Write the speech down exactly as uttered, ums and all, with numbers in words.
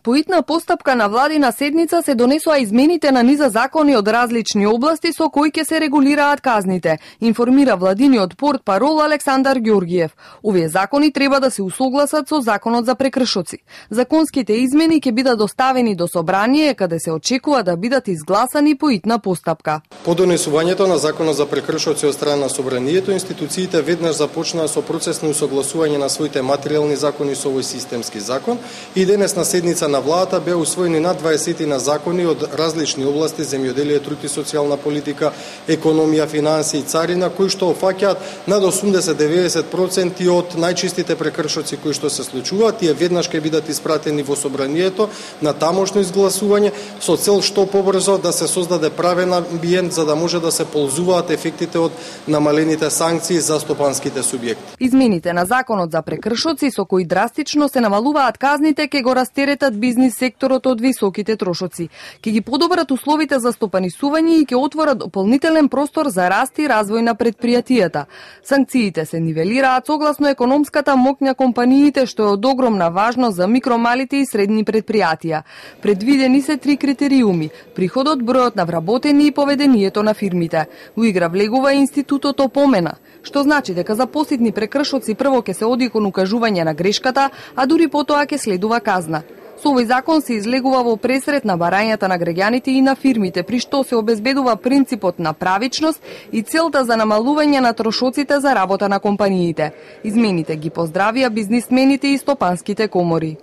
По итна постапка на владина седница се донесоа измените на низа закони од различни области со кои ќе се регулираат казните, информира владиниот портпарол Александар Ѓоргиев. Овие закони треба да се усогласат со законот за прекршоци. Законските измени ќе бидат доставени до собрание, каде се очекува да бидат изгласани по итна постапка. По донесувањето на законот за прекршоци од страна на собранието, институциите веднаш започнаа со процес на усогласување на своите материјални закони со овој системски закон и денес на седница на владата беа усвоени над дваесет на закони од различни области: земјоделие, труд и социјална политика, економија, финансии и царина, кои што опфаќаат над осумдесет до деветдесет проценти од најчистите прекршоци кои што се случуваат. Тие веднаш ќе бидат испратени во собранието на тамошно изгласување со цел што побрзо да се создаде правен амбиент за да може да се ползуваат ефектите од намалените санкции за стопанските субјекти. Измените на законот за прекршоци со кои драстично се намалуваат казните ќе го растеретат бизнис секторот од високите трошоци. Ќе ги подобрат условите за стопанисување и ќе отворат дополнителен простор за раст и развој на предпријатијата. Санкциите се нивелираат согласно економската моќна компаниите, што е од огромна важност за микро, малите и средни предпријатија. Предвидени се три критериуми: приходот, бројот на вработени и поведението на фирмите. Во игра влегува и институтот опомена, што значи дека за поситни прекршоци прво ќе се оди кон укажување на грешката, а дури потоа ќе следува казна. Со овој закон се излегува во пресред на барањата на граѓаните и на фирмите, при што се обезбедува принципот на правичност и целта за намалување на трошоците за работа на компаниите. Измените ги поздравија бизнисмените и стопанските комори.